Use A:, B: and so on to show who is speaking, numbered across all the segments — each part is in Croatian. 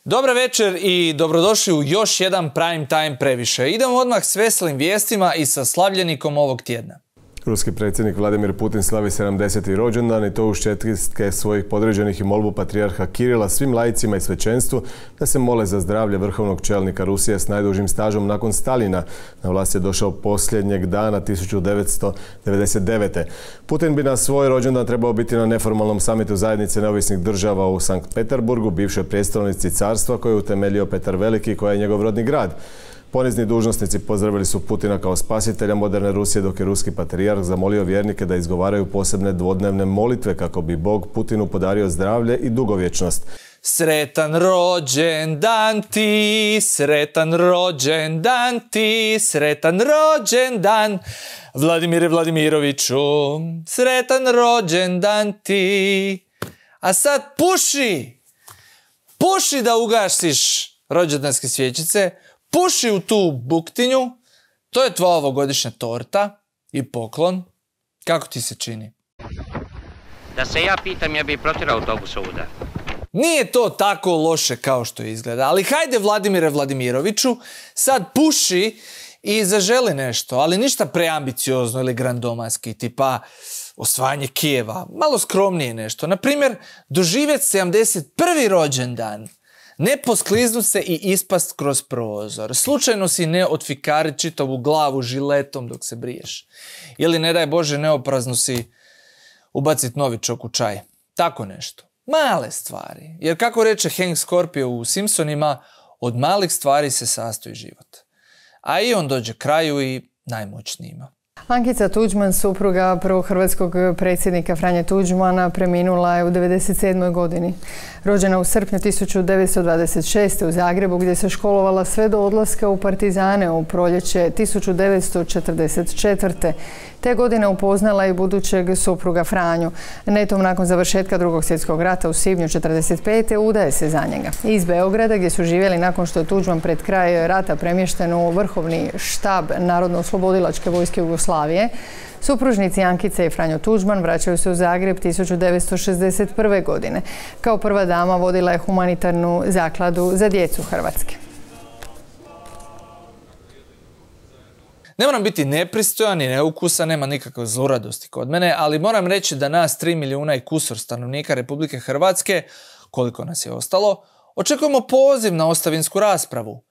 A: Dobar večer i dobrodošli u još jedan Prime Time previše. Idemo odmah s veselim vijestima i sa slavljenikom ovog tjedna.
B: Ruski predsjednik Vladimir Putin slavi 70. rođendan i to uz čestitke svojih podređenih i molbu patrijarha Kirila svim laicima i svećenstvu da se mole za zdravlje vrhovnog čelnika Rusije s najdužim stažom nakon Stalina. Na vlast je došao posljednjeg dana 1999. Putin bi na svoj rođendan trebao biti na neformalnom samitu zajednice neovisnih država u Sankt Peterburgu, bivšoj prijestolnici carstva koje je utemeljio Petar Veliki, koja je njegov rodni grad. Ponizni dužnosnici pozdravili su Putina kao spasitelja moderne Rusije, dok je ruski patrijarh zamolio vjernike da izgovaraju posebne dvodnevne molitve kako bi Bog Putinu podario zdravlje i dugovječnost.
A: Sretan rođendan ti, sretan rođendan ti, sretan rođendan Vladimire Vladimiroviću, sretan rođendan ti. A sad puši da ugasiš rođendanske svjećice, puši u tu buktinju, to je tvoja ovogodišnja torta i poklon. Kako ti se čini?
C: Da se ja pitam, ja bih protjerao autobus ovuda.
A: Nije to tako loše kao što izgleda, ali hajde Vladimire Vladimiroviću, sad puši i zaželi nešto, ali ništa preambiciozno ili grandomanski, tipa osvajanje Kijeva, malo skromnije nešto. Naprimjer, doživjeti 71. rođendan. Ne poskliznuti se i ispast kroz prozor. Slučajno si ne otfikari čitavu glavu žiletom dok se briješ. Ili ne daj Bože neoprazno si ubaciti novičok u čaj. Tako nešto. Male stvari. Jer kako reče Hank Scorpio u Simpsonima, od malih stvari se sastoji život. A i on dođe kraju i najmoćnijima.
D: Ankica Tuđman, supruga prvog hrvatskog predsjednika Franje Tuđmana, preminula je u 97. godini. Rođena u srpnju 1926. u Zagrebu, gdje se školovala sve do odlaska u partizane u proljeće 1944. Te godine upoznala i budućeg supruga Franju. Netom nakon završetka Drugog svjetskog rata u svibnju 1945. udaje se za njega. Iz Beograda, gdje su živjeli nakon što je Tuđman pred kraj rata premješten u vrhovni štab Narodno-oslobodilačke vojske Jugoslavije, supružnici Ankice i Franjo Tuđman vraćaju se u Zagreb 1961. godine. Kao prva dama vodila je humanitarnu zakladu za djecu Hrvatske.
A: Ne moram biti nepristojan i neukusan, nema nikakve zluradosti kod mene, ali moram reći da nas 3 milijuna i kusur stanovnika Republike Hrvatske, koliko nas je ostalo, očekujemo poziv na ostavinsku raspravu.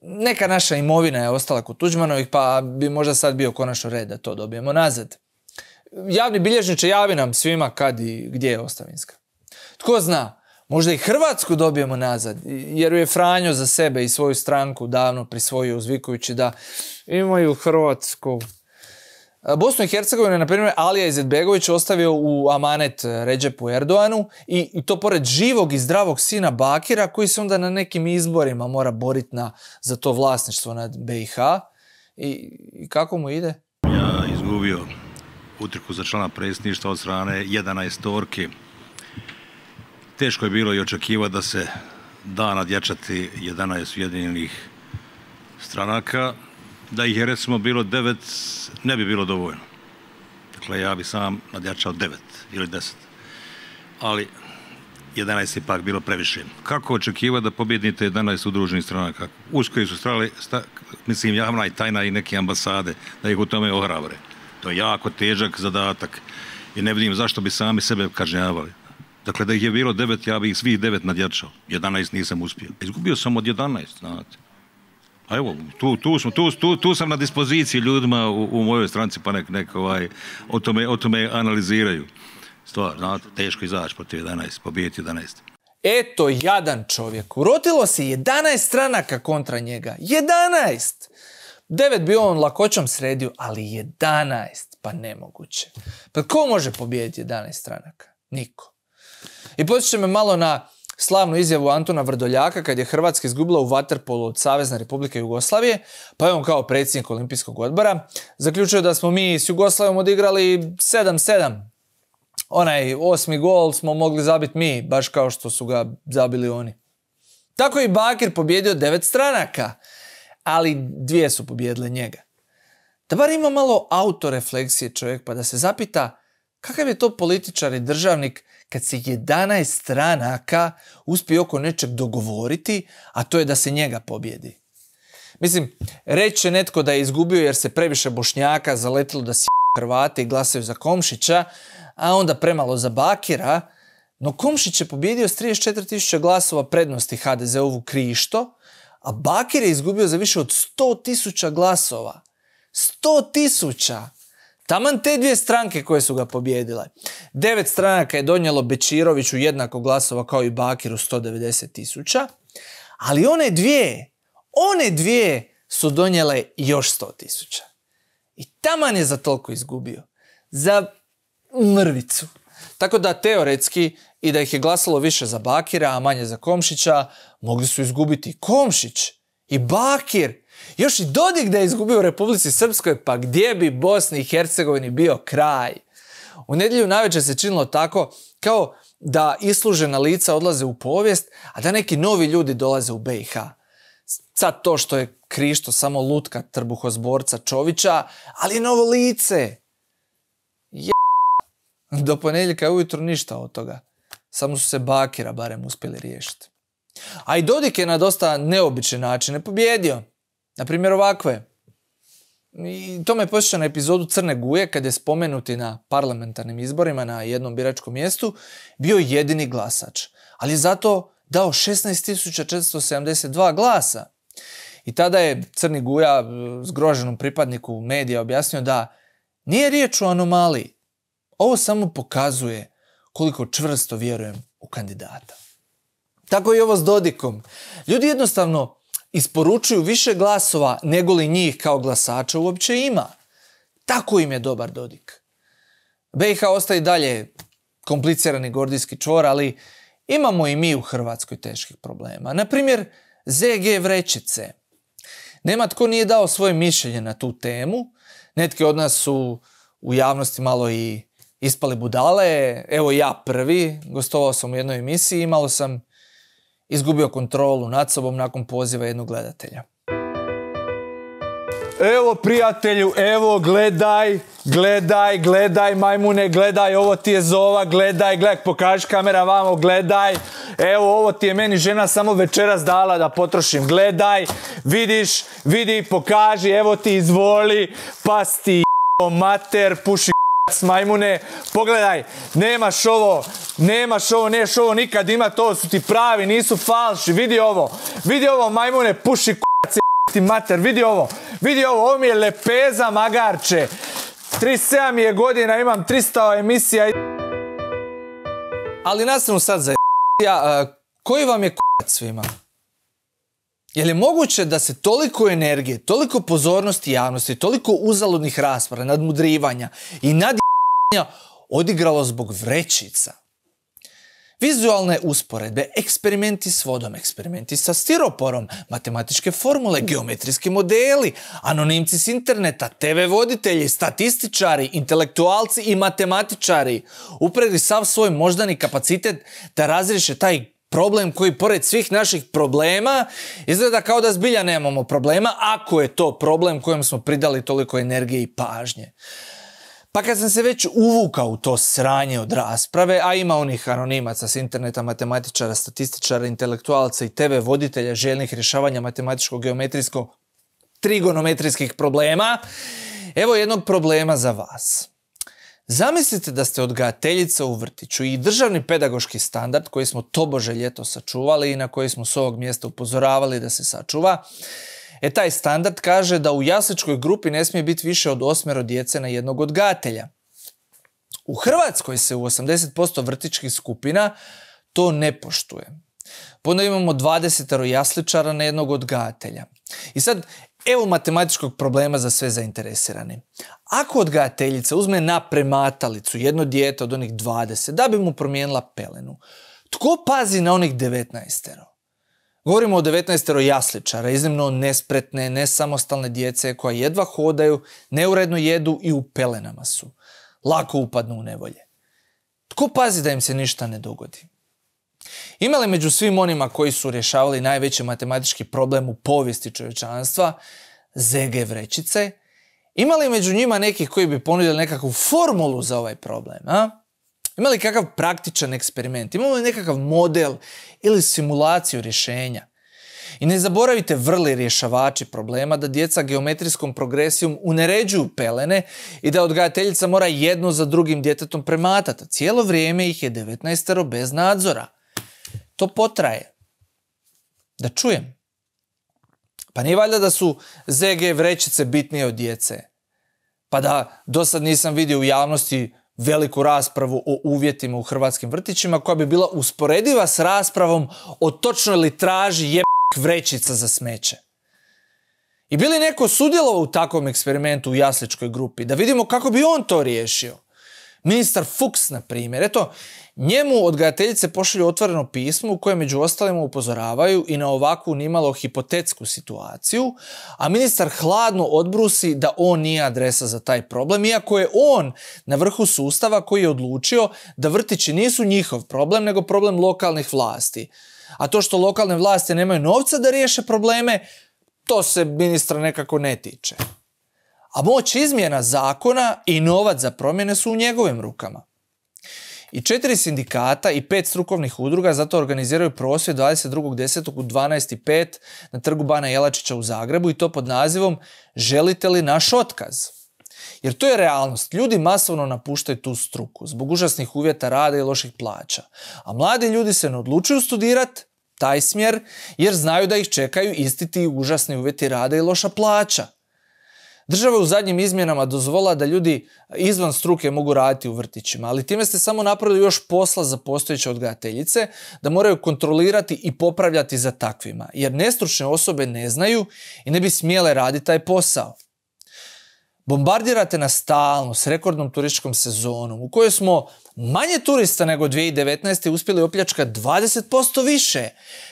A: Neka naša imovina je ostala kod Tuđmanovih, pa bi možda sad bio konačno red da to dobijemo nazad. Javni bilježniče, javi nam svima kad i gdje je ostavinska. Tko zna, možda i Hrvatsku dobijemo nazad, jer ju je Franjo za sebe i svoju stranku davno prisvojio uzvikujući da imaju Hrvatsku. Bosnu i Hercegovinu je, na primjer, Alija Izetbegović ostavio u amanet Redžepu Erdoanu i to pored živog i zdravog sina Bakira, koji se onda na nekim izborima mora boriti za to vlasništvo nad BiH. I kako mu ide?
E: Ja izgubio utrku za člana predsjedništva od strane 11 torki. Teško je bilo i očekivati da se da nadjačati 11 ujedinjenih stranaka. Da ih je recimo bilo 9, ne bi bilo dovoljno. Dakle, ja bi sam nadjačao 9 ili 10. Ali 11 je pak bilo previše. Kako očekivati da pobjednite 11 udruženih stranaka? Usko su strali, mislim, javna i tajna i neke ambasade, da ih u tome ohrabre. To je jako težak zadatak i ne vidim zašto bi sami sebe kažnjavali. Dakle, da ih je bilo 9, ja bi ih svih 9 nadjačao. 11 nisam uspio. Izgubio sam od 11, znate. A evo, tu sam na dispoziciji ljudima u mojoj stranci, pa nek o tome analiziraju. Stvar, znate, teško izaći protiv 11, pobijeti 11.
A: Eto, jadan čovjek. Urotilo se 11 stranaka kontra njega. 11! 9 bi on lakoćom sredio, ali 11, pa nemoguće. Pa ko može pobijediti 11 stranaka? Niko. I podsjeća me malo na slavnu izjavu Antuna Vrdoljaka kad je Hrvatska izgubila u vaterpolu od Savezne Republike Jugoslavije, pa je on kao predsjednik Olimpijskog odbora zaključio da smo mi s Jugoslavijom odigrali 7-7. Onaj 8. gol smo mogli zabiti mi, baš kao što su ga zabili oni. Tako je i Bakir pobjedio 9 stranaka, ali 2 su pobjedile njega. Da bar ima malo autorefleksije čovjek, pa da se zapita kakav je to političar i državnik kad se 11 stranaka uspije oko nečeg dogovoriti, a to je da se njega pobjedi. Mislim, reće netko da je izgubio jer se previše Bošnjaka zaletilo da Hrvati i glasaju za Komšića, a onda premalo za Bakira, no Komšić je pobjedio s 34.000 glasova prednosti HDZ-ovu Krišto, a Bakir je izgubio za više od 100.000 glasova. 100.000! Taman te dvije stranke koje su ga pobjedile. 9 stranaka je donijelo Bečiroviću jednako glasova kao i Bakiru 190.000, ali one dvije su donijele još 100.000. I taman je za toliko izgubio. Za mrvicu. Tako da teoretski i da ih je glasalo više za Bakira, a manje za Komšića, mogli su izgubiti Komšić i Bakir. Još i Dodik da je izgubio u Republici Srpskoj, pa gdje bi Bosni i Hercegovini bio kraj? U nedjelju navečer se činilo tako kao da islužena lica odlaze u povijest, a da neki novi ljudi dolaze u BiH. Sad to što je Krišto samo lutka trbuhozborca Čovića, ali je novo lice. Do ponedjeljka ujutro ništa od toga. Samo su se Bakira barem uspjeli riješiti. A i Dodik je na dosta neobične načine pobjedio. Naprimjer ovakve. I to me posjeća na epizodu Crne Guje kad je spomenuti na parlamentarnim izborima na jednom biračkom mjestu bio jedini glasač. Ali je zato dao 16.472 glasa. I tada je Crni Guja zgroženom pripadniku medija objasnio da nije riječ o anomaliji. Ovo samo pokazuje koliko čvrsto vjerujem u kandidata. Tako i ovo s Dodikom. Ljudi jednostavno isporučuju više glasova nego li njih kao glasača uopće ima. Tako im je dobar Dodik. BiH ostaje i dalje komplicirani gordijski čvor, ali imamo i mi u Hrvatskoj teških problema. Naprimjer, ZG vrećice. Nema tko nije dao svoje mišljenje na tu temu. Netki od nas su u javnosti malo i ispali budale. Evo ja prvi, gostovao sam u jednoj emisiji i malo sam izgubio kontrolu nad sobom nakon poziva jednog gledatelja. Evo prijatelju, evo gledaj majmune, gledaj, ovo ti je Zova, gledaj, pokaži kamera vamo, gledaj. Evo ovo ti je meni žena samo večeras dala da potrošim, gledaj, vidi, pokaži, evo ti izvoli, pas ti mater, puši majmune, pogledaj, nemaš ovo, neš ovo nikad ima, to su ti pravi, nisu falši, vidi ovo majmune, puši ti mater, vidi ovo, ovo mi je lepeza magarče, 37 je godina, imam 300 emisija. Ali nastavno sad za koji vam je k***ac svima? Je li moguće da se toliko energije, toliko pozornosti javnosti, toliko uzaludnih rasprava, nadmudrivanja i nadjebanja odigralo zbog vrećica? Vizualne usporedbe, eksperimenti s vodom, eksperimenti sa stiroporom, matematičke formule, geometrijski modeli, anonimci s interneta, TV voditelji, statističari, intelektualci i matematičari upregli sav svoj moždani kapacitet da razriješe taj problem koji pored svih naših problema izgleda kao da zbilja nemamo problema, ako je to problem kojem smo pridali toliko energije i pažnje. Pa kad sam se već uvukao u to sranje od rasprave, a ima onih anonimaca s interneta, matematičara, statističara, intelektualca i TV voditelja željnih rješavanja matematičko-geometrijsko-trigonometrijskih problema, evo jednog problema za vas. Zamislite da ste odgajateljica u vrtiću i državni pedagoški standard koji smo tobože ljeto sačuvali i na koji smo s ovog mjesta upozoravali da se sačuva, taj standard kaže da u jasličkoj grupi ne smije biti više od 8 djece na jednog odgajatelja. U Hrvatskoj se u 80% vrtićkih skupina to ne poštuje. Onda imamo 20 jasličara na jednog odgajatelja. I sad, evo matematičkog problema za sve zainteresirani. Ako odgajateljica uzme na prematalicu jedno dijete od onih 20 da bi mu promijenila pelenu, tko pazi na onih 19? Govorimo o 19 jasličara, iznimno nespretne, nesamostalne djece koja jedva hodaju, neuredno jedu i u pelenama su. Lako upadnu u nevolje. Tko pazi da im se ništa ne dogodi? Ima li među svim onima koji su rješavali najveći matematički problem u povijesti čovječanstva, ZG vrećice, ima li među njima nekih koji bi ponudili nekakvu formulu za ovaj problem? Ima li kakav praktičan eksperiment? Imamo li nekakav model ili simulaciju rješenja? I ne zaboravite vrli rješavači problema da djeca geometrijskom progresijom uneređuju pelene i da odgajateljica mora jedno za drugim djetetom prematati. Cijelo vrijeme ih je 19 bez nadzora. To potraje. Da čujem. Pa nije valjda da su ZG vrećice bitnije od djece. Pa da dosad nisam vidio u javnosti veliku raspravu o uvjetima u hrvatskim vrtićima koja bi bila usporediva s raspravom o točnoj litraži vrećica za smeće. I bi li neko sudjelovao u takvom eksperimentu u jasličkoj grupi? Da vidimo kako bi on to riješio. Ministar Fuchs, na primjer. Eto, njemu odgajateljice pošalju otvoreno pismo u kojem među ostalima upozoravaju i na ovakvu nimalo hipotetsku situaciju, a ministar hladno odbrusi da on nije adresa za taj problem, iako je on na vrhu sustava koji je odlučio da vrtići nisu njihov problem, nego problem lokalnih vlasti. A to što lokalne vlasti nemaju novca da riješe probleme, to se ministra nekako ne tiče. A moć izmjena zakona i novac za promjene su u njegovim rukama. I 4 sindikata i 5 strukovnih udruga zato organiziraju prosvjed 22.10. u 12:05 na trgu Bana Jelačića u Zagrebu i to pod nazivom Želite li naš otkaz? Jer to je realnost. Ljudi masovno napuštaju tu struku zbog užasnih uvjeta rada i loših plaća. A mladi ljudi se ne odlučuju studirati taj smjer jer znaju da ih čekaju isti ti užasni uvjeti rada i loša plaća. Država je u zadnjim izmjenama dozvolila da ljudi izvan struke mogu raditi u vrtićima, ali time ste samo napravili još posla za postojeće odgajateljice da moraju kontrolirati i popravljati za takvima, jer nestručne osobe ne znaju i ne bi smjele raditi taj posao. Bombardirate nas stalno s rekordnom turističkom sezonom u kojoj smo manje turista nego 2019. uspjeli opljačkati 20% više.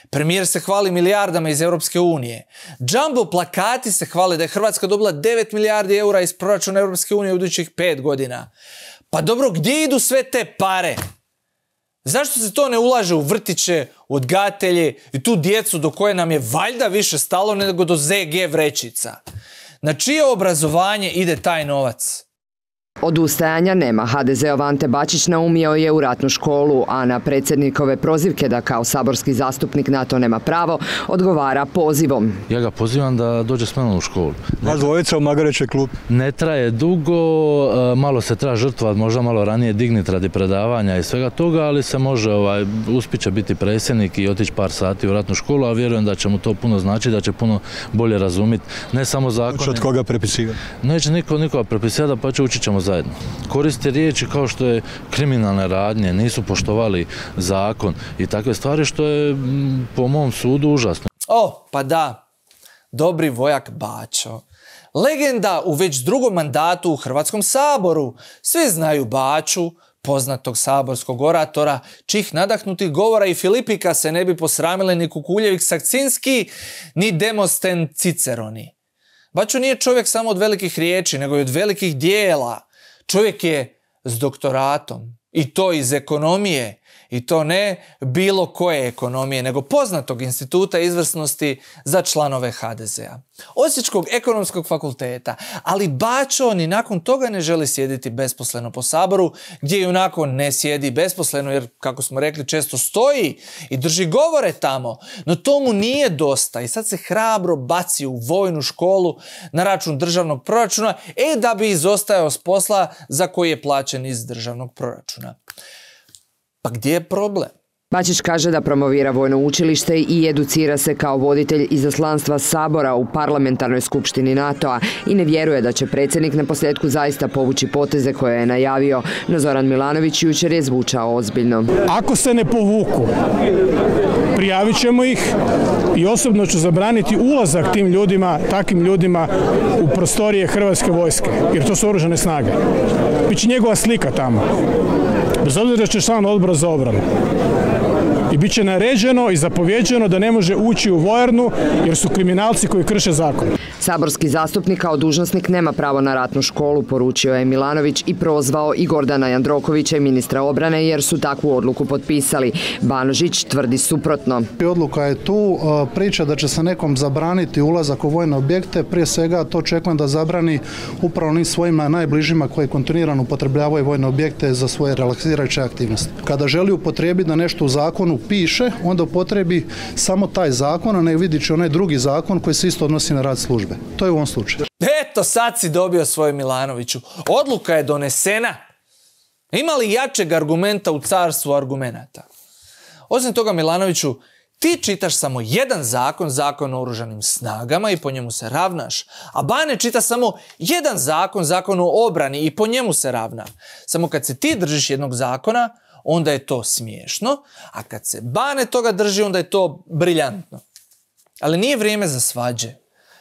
A: Premijer se hvali milijardama iz Europske unije. Jumbo plakati se hvale da je Hrvatska dobila 9 milijardi eura iz proračuna Europske unije u idućih 5 godina. Pa dobro, gdje idu sve te pare? Zašto se to ne ulaže u vrtiće, u odgajatelje i tu djecu do koje nam je valjda više stalo nego do ZG vrećica? Na čije obrazovanje ide taj novac?
F: Odustajanja nema. HDZ-ov Ante Bačić naumio je u ratnu školu, a na predsjednikove prozivke da kao saborski zastupnik na to nema pravo, odgovara pozivom.
G: Ja ga pozivam da dođe s menom u školu.
H: Vas dvojica u Magarećoj klubi.
G: Ne traje dugo, malo se treba žrtvovati, možda malo ranije digniti radi predavanja i svega toga, ali se može, uspjet će biti predsjednik i otići par sati u ratnu školu, a vjerujem da će mu to puno znači, da će puno bolje razumjeti, ne samo zakone.
H: Hoće od koga prepisivati?
G: Neće nikoga prepisivati, pa učit ćemo zajedno. Koriste riječi kao što je kriminalne radnje, nisu poštovali zakon i takve stvari što je po mom sudu užasno.
A: Pa da, dobri vojak Bačo. Legenda u već drugom mandatu u Hrvatskom saboru. Svi znaju Baču, poznatog saborskog oratora, čih nadahnutih govora i Filipika se ne bi posramile ni Kukuljević Sakcinski, ni Demosten Ciceroni. Bačo nije čovjek samo od velikih riječi, nego i od velikih dijela. Čovjek je s doktoratom i to iz ekonomije i to ne bilo koje ekonomije, nego poznatog instituta izvrsnosti za članove HDZ-a. Osječkog ekonomskog fakulteta, ali Bačo ni nakon toga ne želi sjediti besposleno po saboru, gdje i onako ne sjedi besposleno jer, kako smo rekli, često stoji i drži govore tamo. No to mu nije dosta i sad se hrabro baci u vojnu školu na račun državnog proračuna, da bi izostajao s posla za koji je plaćen iz državnog proračuna. Pa gdje je problem?
F: Bačić kaže da promovira vojno učilište i educira se kao voditelj izaslanstva Sabora u parlamentarnoj skupštini NATO-a i ne vjeruje da će predsjednik naposljetku zaista povući poteze koje je najavio, no Zoran Milanović jučer je zvučao ozbiljno.
I: Ako se ne povuku, prijavit ćemo ih i osobno ću zabraniti ulazak tim ljudima, takvim ljudima u prostorije Hrvatske vojske, jer to su oružane snage. Biće njegova slika tamo. Bez obzira što je član odbora za obranu. I bit će naređeno i zapovjeđeno da ne može ući u vojarnu jer su kriminalci koji krše zakon.
F: Saborski zastupnik kao dužnosnik nema pravo na ratnu školu, poručio je Milanović i prozvao i Gordana Jandrokovića i ministra obrane jer su takvu odluku potpisali. Banožić tvrdi suprotno.
J: Odluka je tu, priča da će se nekom zabraniti ulazak u vojne objekte, prije svega to očekujem da zabrani upravo onim svojima najbližima koji kontinuirano upotrebljavaju vojne objekte za svoje relaksirajuće aktivnosti. Kada želi upotrijebiti da nešto u zakonu piše, onda upotrebi samo taj zakon, a ne vidići onaj drugi zakon koji se isto odnosi na rad službe. To je u ovom slučaju.
A: Eto, sad si dobio svoj Milanoviću. Odluka je donesena. Ima li jačeg argumenta u carstvu argumenata? Osim toga, Milanoviću, ti čitaš samo jedan zakon, zakon o oružanim snagama i po njemu se ravnaš. A Bane čita samo jedan zakon, zakon o obrani i po njemu se ravna. Samo kad se ti držiš jednog zakona, onda je to smiješno, a kad se Bane toga drži, onda je to briljantno. Ali nije vrijeme za svađe.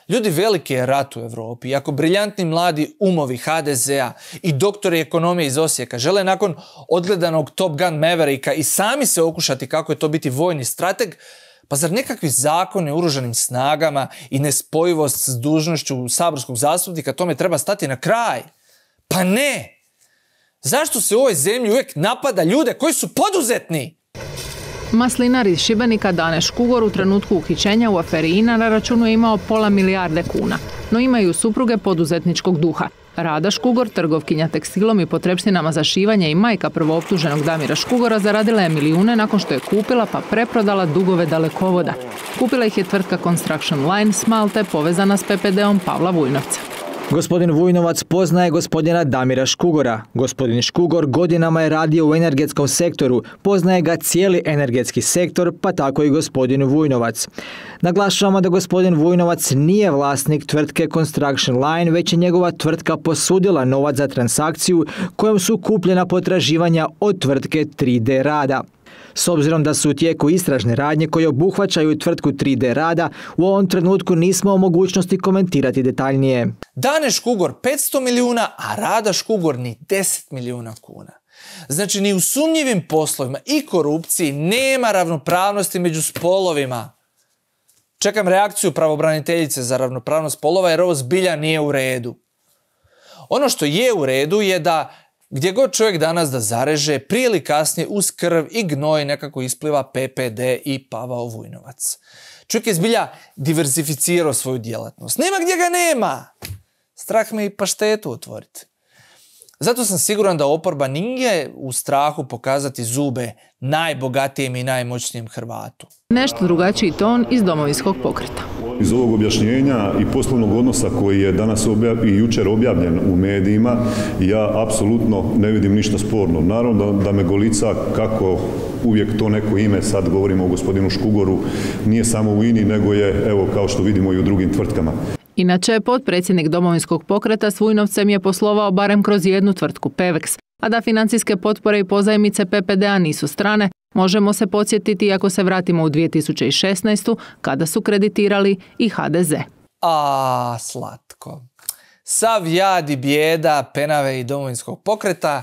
A: Ljudi, veliki je rat u Europi i ako briljantni mladi umovi HDZ-a i doktori ekonomije iz Osijeka žele nakon odgledanog Top Gun Mavericka i sami se okušati kako je to biti vojni strateg, pa zar nekakvi zakoni o oružanim snagama i nespojivost s dužnošću saborskog zastupnika tome treba stati na kraj? Pa ne! Zašto se u ovoj zemlji uvijek napada ljude koji su poduzetni?
K: Maslinar iz Šibenika Dane Škugor u trenutku uhićenja u aferi INA na računu je imao pola milijarde kuna, no imaju supruge poduzetničkog duha. Rada Škugor, trgovkinja tekstilom i potrepštinama za šivanje i majka prvooptuženog Damira Škugora, zaradila je milijune nakon što je kupila pa preprodala dugove dalekovoda. Kupila ih je tvrtka Construction Line s Malte povezana s PPD-om Pavla Vujnovca.
L: Gospodin Vujnovac poznaje gospodina Damira Škugora. Gospodin Škugor godinama je radio u energetskom sektoru, poznaje ga cijeli energetski sektor, pa tako i gospodin Vujnovac. Naglašavamo da gospodin Vujnovac nije vlasnik tvrtke Construction Line, već je njegova tvrtka posudila novac za transakciju kojom su kupljena potraživanja od tvrtke 3D Rada. S obzirom da su u tijeku istražne radnje koje obuhvaćaju tvrtku 3D Rada, u ovom trenutku nismo u mogućnosti komentirati detaljnije.
A: Dane Škugor 500 milijuna, a Rada Škugor ni 10 milijuna kuna. Znači, ni u sumnjivim poslovima i korupciji nema ravnopravnosti među spolovima. Čekam reakciju pravobraniteljice za ravnopravnost spolova jer ovo zbilja nije u redu. Ono što je u redu je da gdje god čovjek danas da zareže, prije ili kasnije uz krv i gnoj nekako ispliva PPD i Pavao Vujnovac. Čovjek je zbilja diversificirao svoju djelatnost. Nema gdje ga nema! Strah me i paštetu otvoriti. Zato sam siguran da oporba nije u strahu pokazati zube najbogatijem i najmoćnijem Hrvatu.
K: Nešto drugačiji ton iz Domovinskog pokreta.
M: Iz ovog objašnjenja i poslovnog odnosa koji je danas i jučer objavljen u medijima, ja apsolutno ne vidim ništa sporno. Naravno da me golica kako uvijek to neko ime, sad govorimo o gospodinu Škugoru, nije samo u INI, nego je, evo, kao što vidimo i u drugim tvrtkama.
K: Inače, potpredsjednik Domovinskog pokreta s Vujnovcem je poslovao barem kroz jednu tvrtku Pevex, a da financijske potpore i pozajmice PPD-a nisu strane, možemo se podsjetiti ako se vratimo u 2016. kada su kreditirali i HDZ.
A: A, slatko. Sav jad i bijeda Penave i Domovinskog pokreta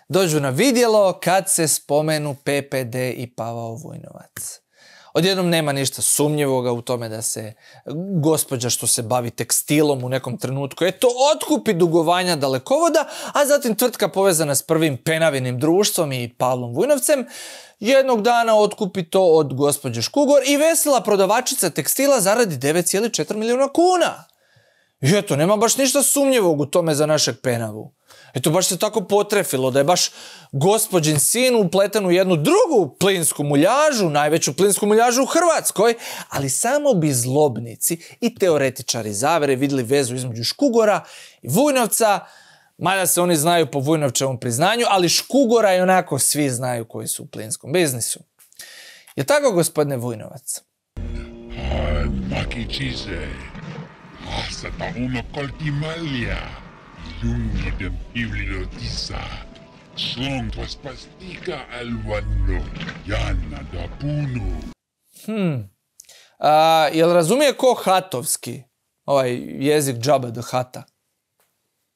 A: dođu na vidjelo kad se spomenu PPD i Pavao Vujnovac. Odjednom nema ništa sumnjivoga u tome da se gospođa što se bavi tekstilom u nekom trenutku otkupi dugovanja dalekovoda, a zatim tvrtka povezana s prvim Penavinim društvom i Pavlom Vujnovcem jednog dana otkupi to od gospođe Škugor i vesela prodavačica tekstila zaradi 9,4 milijuna kuna. I eto, nema baš ništa sumnjivog u tome za našeg Penavu. Eto, baš se tako potrefilo da je baš gospođin sin upleten u jednu drugu plinsku muljažu, najveću plinsku muljažu u Hrvatskoj, ali samo bi zlobnici i teoretičari zavere vidjeli vezu između Škugora i Vujnovca, mada se oni znaju po Vujnovčevom priznanju, ali Škugora i onako svi znaju koji su u plinskom biznisu. Je tako, gospodine Vujnovac? Jel razumije ko hatovski? Ovaj jezik džabe do hata?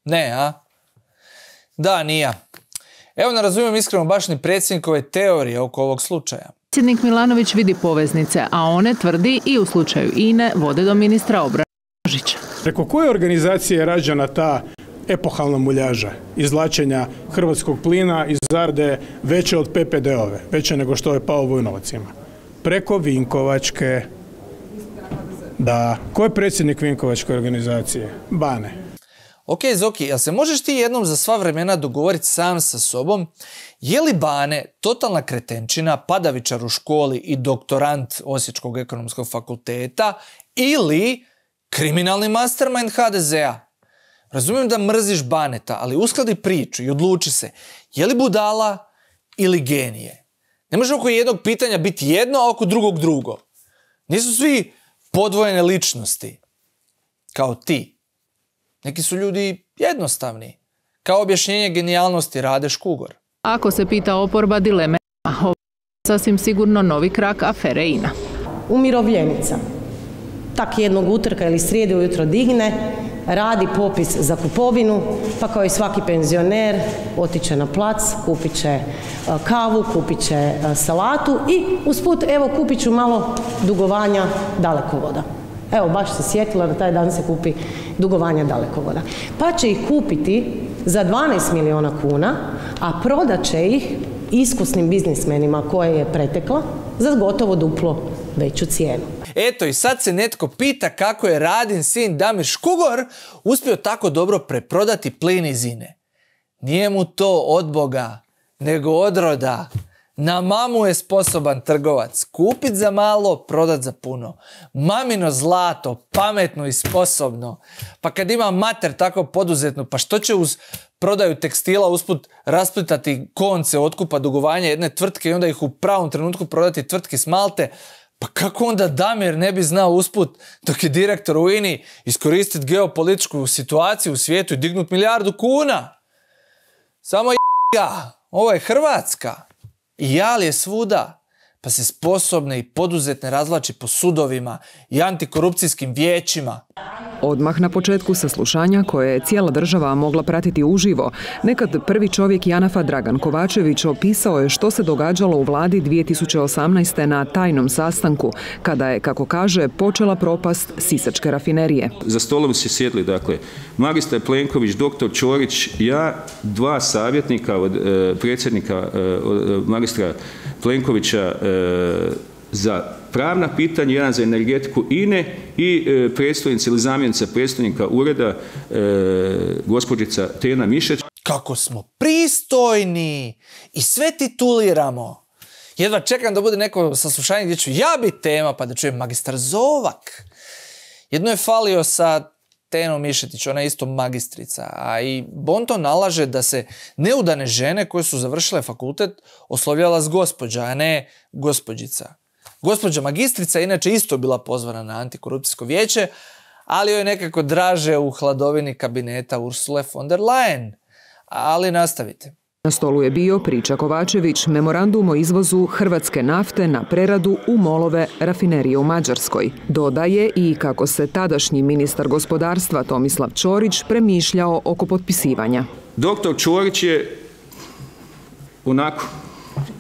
A: Ne, a? Da, nije. Evo, ne razumijem iskreno baš ni predsjednikove teorije oko ovog slučaja.
K: Predsjednik Milanović vidi poveznice, a one, tvrdi, i u slučaju INA-e vode do ministra obrane Božića.
I: Preko koje organizacije je rađena ta epohalna muljaža izvlačenja hrvatskog plina iz Zarde veće od PPD-ove, veće nego što je Pavo Vujnovac ima? Preko Vinkovačke. Da. Ko je predsjednik Vinkovačke organizacije? Bane.
A: Ok, Zoki, jel se možeš ti jednom za sva vremena dogovoriti sam sa sobom, je li Bane totalna kretenčina, padavičar u školi i doktorant Osječkog ekonomskog fakulteta ili kriminalni mastermind HDZ-a? Razumijem da mrziš Baneta, ali uskladi priču i odluči se, je li budala ili genije? Ne može oko jednog pitanja biti jedno, a oko drugog drugo. Nisu svi podvojene ličnosti, kao ti. Neki su ljudi jednostavni, kao objašnjenje genijalnosti Rade Škugor.
K: Ako se pita oporba, dileme ovo je sasvim sigurno novi krak afere INA.
N: Umirovljenica. Tak jednog utorka ili srijede ujutro digne, radi popis za kupovinu, pa kao i svaki penzioner otiće na plac, kupit će kavu, kupit će salatu i usput evo kupit ću malo dugovanja Dalekovoda. Evo, baš se sjetila da taj dan se kupi dugovanja Dalekovoda. Pa će ih kupiti za 12 milijuna kuna, a prodat će ih iskusnim biznismenima koje je pretekla za gotovo duplo veću cijenu.
A: Eto i sad se netko pita kako je Radin sin Damir Škugor uspio tako dobro preprodati plin iz INA-e. Nije mu to od Boga, nego od roda. Na mamu je sposoban trgovac. Kupit za malo, prodat za puno. Mamino zlato, pametno i sposobno. Pa kad ima mater tako poduzetnu, pa što će uz prodaju tekstila usput rasplitati konce otkupa dugovanja jedne tvrtke i onda ih u pravom trenutku prodati tvrtki s Malte? Pa kako onda Damir ne bi znao usput, dok je direktor u INA-i, iskoristiti geopolitičku situaciju u svijetu i dignut 1 milijardu kuna? Samo ga, ovo je Hrvatska. I jal je svuda, pa se sposobne i poduzetne razvlači po sudovima i antikorupcijskim vijećima.
F: Odmah na početku saslušanja, koje je cijela država mogla pratiti uživo, nekad prvi čovjek JANAF-a Dragan Kovačević opisao je što se događalo u vladi 2018. na tajnom sastanku, kada je, kako kaže, počela propast Sisačke rafinerije.
O: Za stolom se sjedli, dakle, magistar Plenković, doktor Ćorić, ja, 2 savjetnika od predsjednika, od magistra Plenkovića za pravna pitanja, jedan za energetiku INA-e i predstojnica ili zamjenica predstojnika ureda gospođica Tena Mišeć.
A: Kako smo pristojni i sve tituliramo. Jedva čekam da bude neko saslušanje gdje ću ja biti tema pa da čujem magistar Zovak. Jedno je falio sa Tenom Mišetić, ona je isto magistrica, a i Bonton nalaže da se neudane žene koje su završile fakultet oslovljala s gospođa, a ne gospođica. Gospođa magistrica inače isto bila pozvana na antikorupcijsko vijeće, ali joj je nekako draže u hladovini kabineta Ursule von der Leyen. Ali nastavite.
F: Na stolu je bio, priča Kovačević, memorandum o izvozu hrvatske nafte na preradu u MOL-ove rafinerije u Mađarskoj. Dodaje i kako se tadašnji ministar gospodarstva Tomislav Ćorić premišljao oko potpisivanja.
O: Doktor Ćorić je onako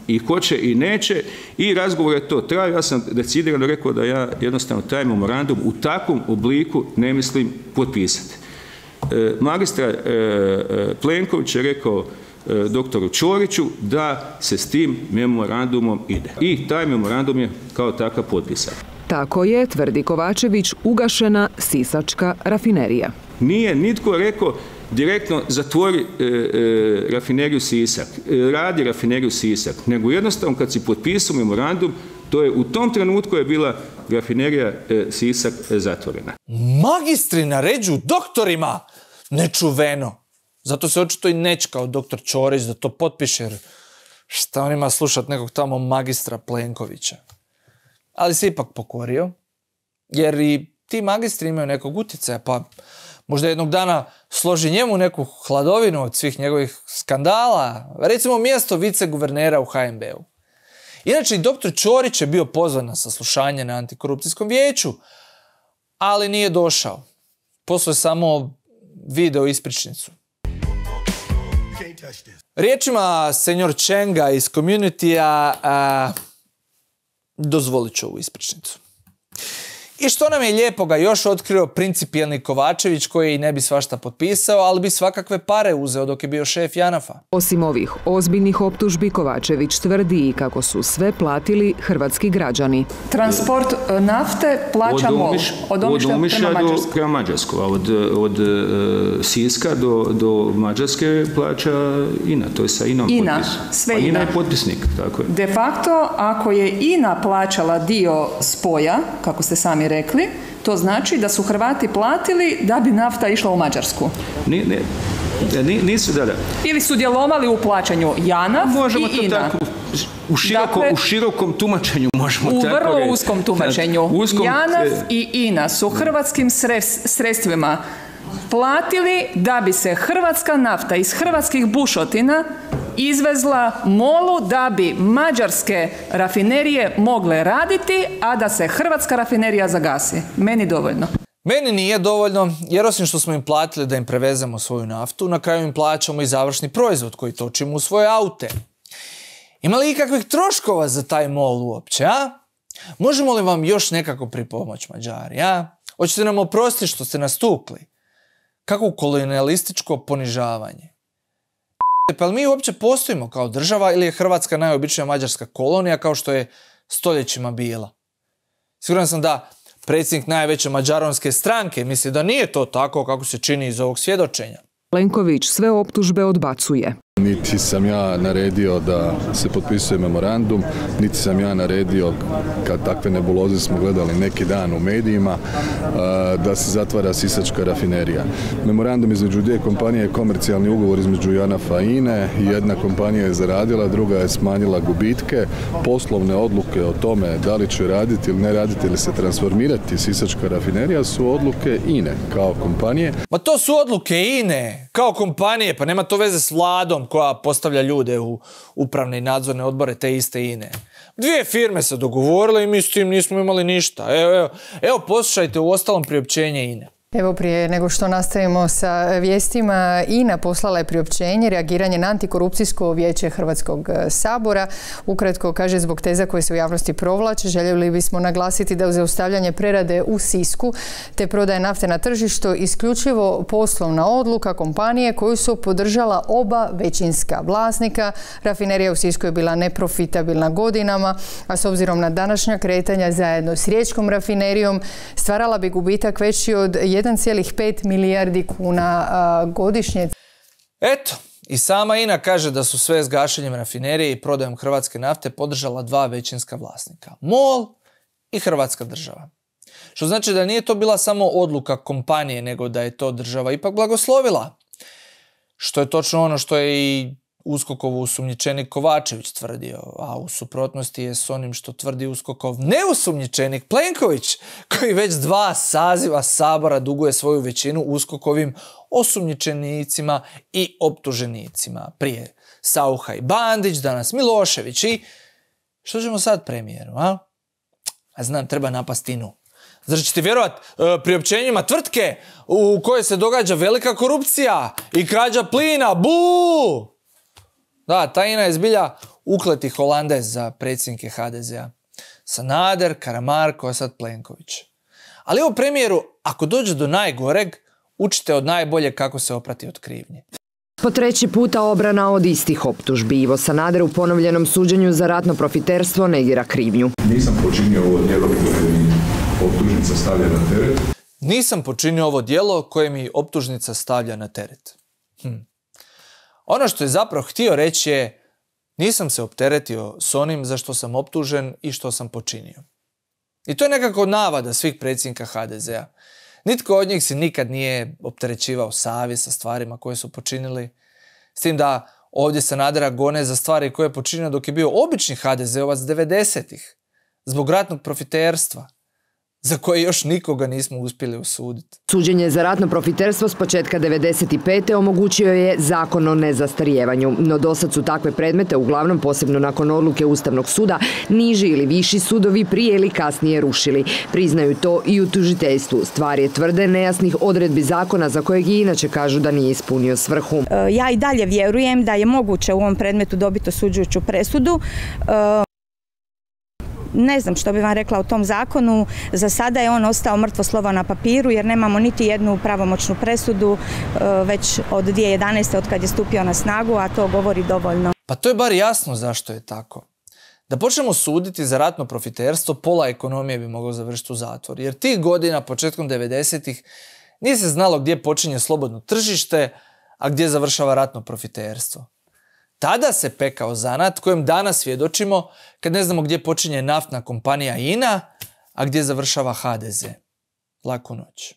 O: i hoće i neće i razgovor je to trajao. Ja sam decidirano rekao da ja jednostavno taj memorandum u takvom obliku ne mislim potpisati. Magistar Plenković je rekao doktoru Ćoriću da se s tim memorandumom ide. I taj memorandum je kao takav potpisan.
F: Tako je, tvrdi Kovačević, ugašena Sisačka rafinerija.
O: Nije nitko rekao direktno zatvori rafineriju Sisak, radi rafineriju Sisak, nego jednostavno kad si potpisao memorandum, to je u tom trenutku je bila rafinerija Sisak zatvorena.
A: Magistri naređuju doktorima! Nečuveno! Zato se očito i nečkao doktor Ćorić da to potpiše, jer šta on ima slušat nekog tamo magistra Plenkovića. Ali se ipak pokorio, jer i ti magistri imaju nekog utjecaja, pa možda jednog dana složi njemu neku hladovinu od svih njegovih skandala, recimo mjesto viceguvernera u HNB-u. Inače, i doktor Ćorić je bio pozvan na saslušanje na antikorupcijskom vijeću, ali nije došao. Poslao je samo video ispričnicu. Riječima senjor Čenga iz Community-a, Dozvolit ću ovu ispričnicu. I što nam je lijepoga još otkrio principijelni Kovačević, koji i ne bi svašta potpisao, ali bi svakakve pare uzeo dok je bio šef JANAF-a.
P: Osim ovih ozbiljnih optužbi, Kovačević tvrdi i kako su sve platili hrvatski građani.
Q: Transport nafte plaća MOL. Od Omišlja
O: prema Mađarskoj. Od Siska do Mađarske plaća INA. To je sa INA-om potpis.
Q: Sve
O: INA. INA je potpisnik, tako je.
Q: De facto, ako je INA plaćala dio spoja, kako ste sami rekli, to znači da su Hrvati platili da bi nafta išla u Mađarsku.
O: Nisu, da.
Q: Ili su djelovali u plaćanju JANAF i INA.
O: Tako, u širokom tumačenju možemo tako reći.
Q: U vrlo uskom tumačenju. JANAF i INA su hrvatskim sredstvima platili da bi se hrvatska nafta iz hrvatskih bušotina izvezla MOL-u da bi mađarske rafinerije mogle raditi, a da se hrvatska rafinerija zagasi. Meni dovoljno.
A: Meni nije dovoljno, jer osim što smo im platili da im prevezemo svoju naftu, na kraju im plaćamo i završni proizvod koji točimo u svoje aute. Ima li ikakvih troškova za taj MOL uopće, a? Možemo li vam još nekako pripomoći, Mađari, a? Hoćete nam oprostiti što ste nas tukli? Kako kolonialističko ponižavanje? Pa li mi uopće postojimo kao država ili je Hrvatska najobičnija mađarska kolonija kao što je stoljećima bila? Siguran sam da predsjednik najveće mađaronske stranke misli da nije to tako kako se čini iz ovog svjedočenja.
P: Plenković sve optužbe odbacuje.
R: Niti sam ja naredio da se potpisuje memorandum, niti sam ja naredio, kad takve nebuloze smo gledali neki dan u medijima, da se zatvara sisačka rafinerija. Memorandum između dvije kompanije je komercijalni ugovor između JANAF-a i INE. Jedna kompanija je zaradila, druga je smanjila gubitke. Poslovne odluke o tome da li će raditi ili ne raditi ili se transformirati sisačka rafinerija su odluke INE kao kompanije.
A: Ma to su odluke INE kao kompanije, pa nema to veze s vladom koja postavlja ljude u upravne i nadzorne odbore te iste INE. Dvije firme se dogovorile i mi s tim nismo imali ništa. Evo poslušajte u ostalom priopćenje INE.
D: Evo prije nego što nastavimo sa vijestima, INA poslala je priopćenje reagiranje na antikorupcijsko vijeće Hrvatskog sabora. Ukratko kaže, zbog teza koje se u javnosti provlače, željeli bismo naglasiti da uz zaustavljanje prerade u Sisku te prodaje nafte na tržištu isključivo poslovna odluka kompanije koju su podržala oba većinska vlasnika. Rafinerija u Sisku je bila neprofitabilna godinama, a s obzirom na današnja kretanja zajedno s Riječkom rafinerijom stvarala bi gubitak veći od 1,5 milijardi kuna godišnje.
A: Eto, i sama INA kaže da su sve s gašenjem rafinerije i prodajom hrvatske nafte podržala dva većinska vlasnika. MOL i Hrvatska država. Što znači da nije to bila samo odluka kompanije, nego da je to država ipak blagoslovila. Što je točno ono što je i USKOK-ov osumnjičenik Kovačević tvrdio, a u suprotnosti je s onim što tvrdi USKOK-ov neosumnjičenik Plenković, koji već 2 saziva Sabora duguje svoju većinu USKOK-ovim osumnjičenicima i optuženicima. Prije Saucha i Bandić, danas Milošević i... Što ćemo sad premijeru, a? A znam, treba napast INA-u. Zar ćete vjerovat priopćenjima tvrtke u kojoj se događa velika korupcija i krađa plina? Buu! Da, ta INA je zbilja ukleti Holandez za predsjednike HDZ-a. Sanader, Karamarko, a sad Plenković. Ali evo premijeru, ako dođe do najgoreg, učite od najbolje kako se oprati od krivnje.
F: Po 3. puta obrana od istih optužbi. Ivo Sanader u ponovljenom suđenju za ratno profiterstvo negira krivnju.
S: Nisam počinio ovo djelo koje mi optužnica stavlja na teret.
A: Nisam počinio ovo djelo koje mi optužnica stavlja na teret. Ono što je zapravo htio reći je, nisam se opteretio s onim za što sam optužen i što sam počinio. I to je nekako navada svih predsjednika HDZ-a. Nitko od njih se nikad nije opterećivao savjest sa stvarima koje su počinili. S tim da ovdje Sanadera gone za stvari koje je počinio dok je bio obični HDZ-ovac 90-ih. Zbog ratnog profiterstva, za koje još nikoga nismo uspjeli osuditi.
F: Suđenje za ratno profiterstvo s početka 95. omogućio je zakon o nezastarijevanju, no dosad su takve predmete, uglavnom posebno nakon odluke Ustavnog suda, niži ili viši sudovi prije ili kasnije rušili. Priznaju to i u tužiteljstvu. Stvar je tvrde nejasnih odredbi zakona za kojeg i inače kažu da nije ispunio svrhu.
T: Ja i dalje vjerujem da je moguće u ovom predmetu dobiti osuđujuću presudu. Ne znam što bi vam rekla o tom zakonu. Za sada je on ostao mrtvo slovo na papiru jer nemamo niti jednu pravomoćnu presudu već od 2011. od kad je stupio na snagu, a to govori dovoljno.
A: Pa to je bar jasno zašto je tako. Da počnemo suditi za ratno profiterstvo, pola ekonomije bi moglo završiti u zatvor. Jer tih godina, početkom 90-ih, nije se znalo gdje počinje slobodno tržište, a gdje završava ratno profiterstvo. Tada se pekao zanat kojem danas svjedočimo kad ne znamo gdje počinje naftna kompanija INA, a gdje završava HDZ. Laku noć.